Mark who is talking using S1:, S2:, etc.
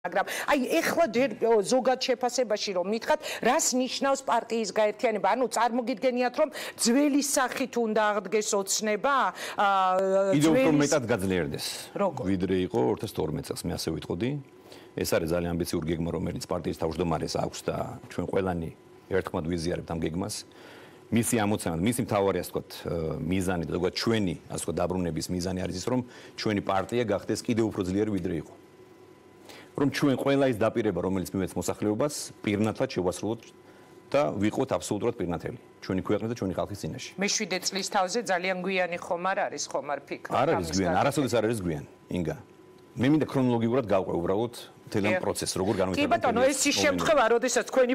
S1: მაგრამ აი ეხლა ზოგად შეფასებაში რომ მითხრათ, რას ნიშნავს პარტიის გაერთიანება? ანუ წარმოგიდგენიათ რომ ძველი სახით უნდა აღდგეს ოცნება?
S2: კიდევ უფრო მეტად გაძლიერდეს. ვიდრე იყო 2012 წელს, მე ასე ვიტყოდი. ეს არის ძალიან ამბიციური გეგმა, რომელიც პარტიის თავმჯდომარეს აქვს და ჩვენ ყველანი ერთხმად ვიზიარებთ ამ გეგმას. მისი ამოცანა, მისი მთავარი ასე ვთქვათ, მიზანი და ზოგადად ჩვენი ასე ვთქვათ დაბრუნების მიზანი არის ის, რომ ჩვენი პარტია გახდეს კიდევ უფრო ძლიერი ვიდრე იყო. რომ ჩვენ ყველა ის დაპირება, რომელიც მივეც მოსახლეობას, პირნათლად შევასრულოთ და ვიყოთ აბსოლუტურად პირნათელი. ჩვენი ქვეყნის და ჩვენი ხალხის წინაშე.
S1: მე-7 წლის თავზე ძალიან გვიანი ხომ არ არის, ხომ არ ფიქრობ?
S2: არ არის გვიანი, არასოდეს არ არის გვიანი, ინგა. მე მინდა ქრონოლოგიურად გავყვე უბრალოდ მთელი პროცესი, როგორ განვითარდა.
S1: კი ბატონო, ეს ის შემთხვევა, როდესაც თქვენი